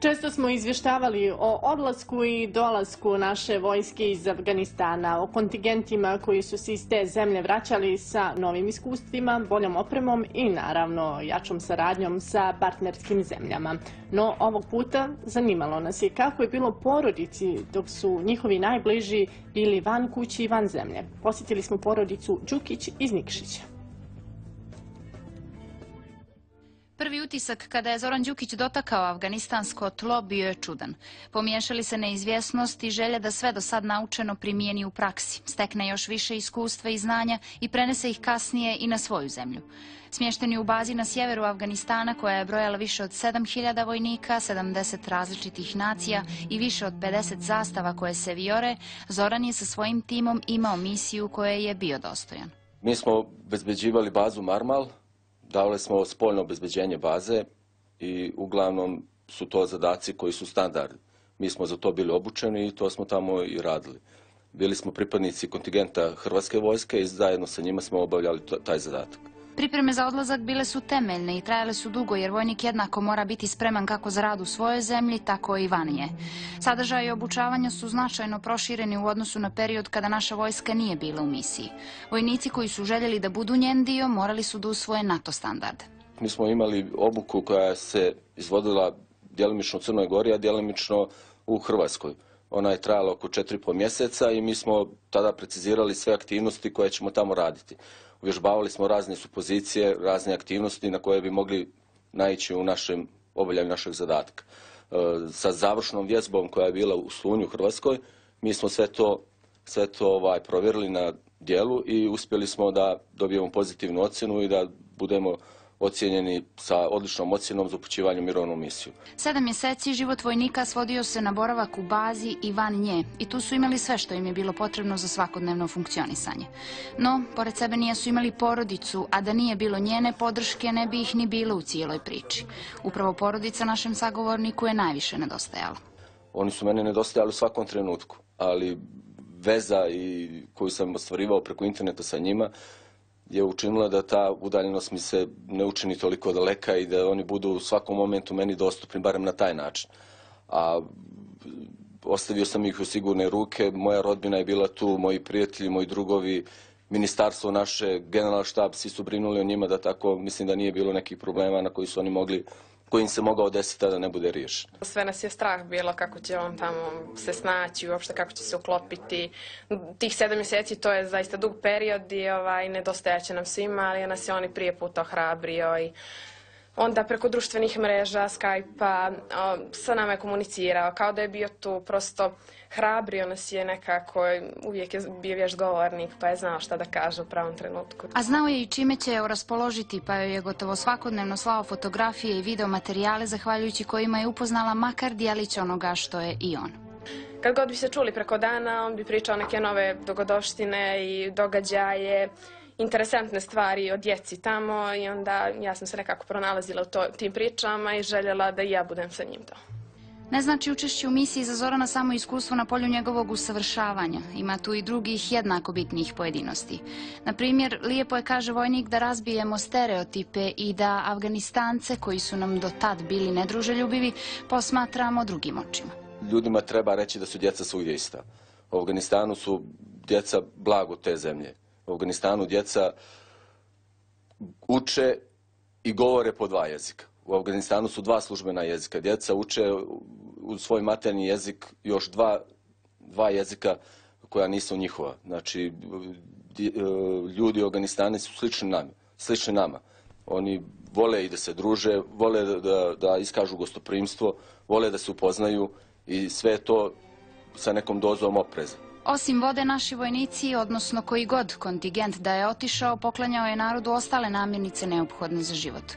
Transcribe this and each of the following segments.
Često smo izvještavali o odlasku i dolasku naše vojske iz Afganistana, o kontingentima koji su se iz te zemlje vraćali sa novim iskustvima, boljom opremom i naravno jačom saradnjom sa partnerskim zemljama. No ovog puta zanimalo nas je kako je bilo porodici dok su njihovi najbliži bili van kući i van zemlje. Posjetili smo porodicu Đukić iz Nikšića. Prvi utisak kada je Zoran Đukić dotakao afganistansko tlo bio je čudan. Pomiješali se neizvjesnost i želja da sve do sad naučeno primijeni u praksi, stekne još više iskustva i znanja i prenese ih kasnije i na svoju zemlju. Smješteni u bazi na sjeveru Afganistana koja je brojala više od 7000 vojnika, 70 različitih nacija i više od 50 zastava koje se vijore, Zoran je sa svojim timom imao misiju koje je bio dostojan. Mi smo obezbeđivali bazu Marmal. Davali smo spoljno obezbeđenje baze i uglavnom su to zadaci koji su standardni. Mi smo za to bili obučeni i to smo tamo i radili. Bili smo pripadnici kontingenta Hrvatske vojske i zajedno sa njima smo obavljali taj zadatak. Pripreme za odlazak bile su temeljne i trajale su dugo jer vojnik jednako mora biti spreman kako za rad u svojoj zemlji, tako i van nje. Sadržaj i obučavanja su značajno prošireni u odnosu na period kada naša vojska nije bila u misiji. Vojnici koji su željeli da budu njen dio morali su da usvoje NATO standarde. Mi smo imali obuku koja se izvodila djelimično u Crnoj Gori, a djelimično u Hrvatskoj. Ona je trajala oko 4,5 mjeseca i mi smo tada precizirali sve aktivnosti koje ćemo tamo raditi. Uvježbavali smo razne supozicije, razne aktivnosti na koje bi mogli naići u našem obavljanju našeg zadatka. Sa završnom vježbom koja je bila u Slunju u Hrvatskoj, mi smo sve to provjerili na djelu i uspjeli smo da dobijemo pozitivnu ocjenu i da budemo ocijenjeni sa odličnom ocjenom za upućivanje u mirovnu misiju. 7 mjeseci život vojnika svodio se na boravak u bazi i van nje i tu su imali sve što im je bilo potrebno za svakodnevno funkcionisanje. No, pored sebe nisu imali porodicu, a da nije bilo njene podrške ne bi ih ni bilo u cijeloj priči. Upravo porodica našem sagovorniku je najviše nedostajala. Oni su mene nedostajali u svakom trenutku, ali veza koju sam ostvarivao preko interneta sa njima je učinila da ta udaljenost mi se ne učini toliko daleka i da oni budu u svakom momentu meni dostupni, barem na taj način. A ostavio sam ih u sigurne ruke, moja rodbina je bila tu, moji prijatelji, moji drugovi, ministarstvo naše, generalštab, svi su brinuli o njima da tako, mislim da nije bilo nekih problema na koji su oni mogli, koji im se mogao desiti da ne bude riješen. Sve nas je strah bilo kako će on tamo se snaći, uopšte kako će se uklopiti. Tih 7 mjeseci to je zaista dug period i nedostajaće nam svima, ali nas je on i prije puta ohrabrio i onda preko društvenih mreža, Skype-a, sa nama je komunicirao, kao da je bio tu, prosto hrabrio nas je nekako, uvijek je bio vješt govornik, pa je znao šta da kaže u pravom trenutku. A znao je i čime će je raspoložiti, pa joj je gotovo svakodnevno slao fotografije i video materijale, zahvaljujući kojima je upoznala makar dijelić onoga što je i on. Kad god bi se čuli preko dana, on bi pričao neke nove dogodovštine i događaje, interesantne stvari o djeci tamo i onda ja sam se nekako pronalazila u tim pričama i željela da i ja budem sa njim to. Ne znači učešće u misiji za Zorana samo iskustvo na polju njegovog usavršavanja. Ima tu i drugih jednako bitnih pojedinosti. Na primjer, lijepo je, kaže vojnik, da razbijemo stereotipe i da Afganistance, koji su nam do tad bili nedruželjubivi, posmatramo drugim očima. Ljudima treba reći da su djeca svugdje ista. U Afganistanu su djeca blago te zemlje. U Afganistanu djeca uče i govore po 2 jezika. U Afganistanu su 2 službena jezika. Djeca uče u svoj materni jezik još 2 jezika koja nisu njihova. Znači, ljudi u Afganistanu su slični nama. Oni vole i da se druže, vole da iskažu gostoprimstvo, vole da se upoznaju i sve to sa nekom dozom opreza. Osim vode, naši vojnici, odnosno koji god kontingent da je otišao, poklanjao je narodu ostale namirnice neophodne za život.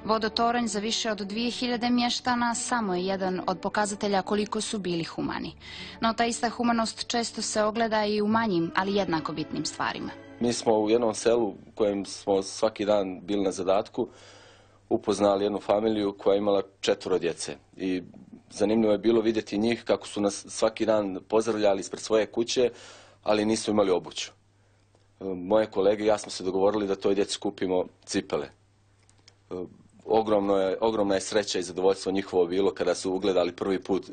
Vodotoranj za više od 2000 mještana samo je jedan od pokazatelja koliko su bili humani. No ta ista humanost često se ogleda i u manjim, ali jednako bitnim stvarima. Mi smo u jednom selu u kojem smo svaki dan bili na zadatku upoznali jednu familiju koja je imala 4 djece. I zanimljivo je bilo vidjeti njih kako su nas svaki dan pozdravljali ispred svoje kuće, ali nisu imali obuću. Moje kolege i ja smo se dogovorili da toj djeci kupimo cipele. ogromna je sreća i zadovoljstvo njihovo bilo kada su ugledali prvi put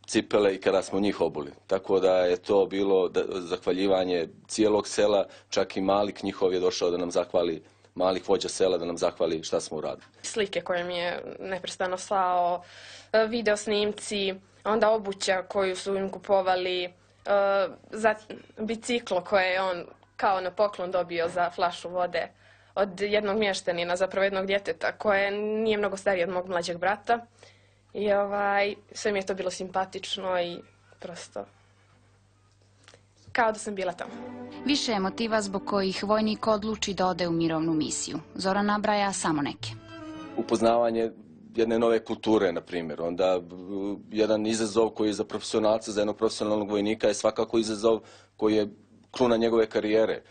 cipele i kada smo njih obuli. Tako da je to bilo zahvaljivanje cijelog sela, čak i Malik njihov je došao da nam zahvali, Malik vođa sela, da nam zahvali šta smo uradili. Slike koje mi je neprestano slao, video snimci, onda obuća koju su im kupovali, biciklo koje je on kao na poklon dobio za flašu vode od jednog mještanina, zapravo jednog djeteta koje nije mnogo stariji od mog mlađeg brata. I sve mi je to bilo simpatično i prosto kao da sam bila tamo. Više je motiva zbog kojih vojnik odluči da ode u mirovnu misiju. Zoran nabraja samo neke. Upoznavanje jedne nove kulture, na primjer. Onda jedan izazov koji je za profesionalca, za jednog profesionalnog vojnika je svakako izazov koji je kruna njegove karijere.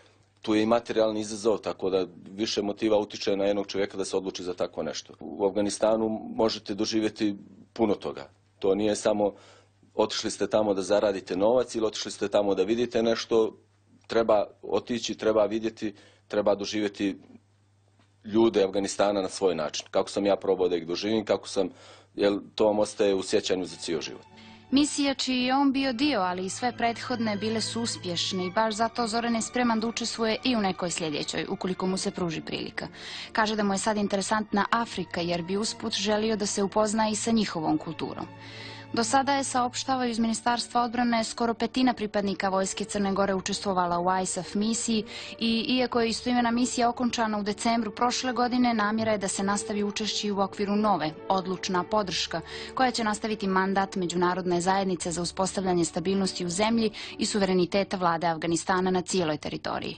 Tu je i materijalni izazov, tako da više motiva utiče na jednog čovjeka da se odluči za tako nešto. U Afganistanu možete doživjeti puno toga. To nije samo otišli ste tamo da zaradite novac ili otišli ste tamo da vidite nešto. Treba otići, treba vidjeti, treba doživjeti ljude Afganistana na svoj način. Kako sam ja probao da ih doživim, jer to vam ostaje u sjećanju za cijel život. Misija čiji je on bio dio, ali i sve prethodne bile su uspješne i baš zato Zoran je spreman da učestvuje i u nekoj sljedećoj, ukoliko mu se pruži prilika. Kaže da mu je sad interesantna Afrika jer bi usput želio da se upozna i sa njihovom kulturom. Do sada je, saopštavaju iz Ministarstva odbrane, skoro petina pripadnika vojske Crne Gore učestvovala u ISAF misiji i iako je istoimena misija okončana u decembru prošle godine, namjera je da se nastavi učešće u okviru nove, odlučna podrška, koja će nastaviti mandat Međunarodne zajednice za uspostavljanje stabilnosti u zemlji i suvereniteta vlade Afganistana na cijeloj teritoriji.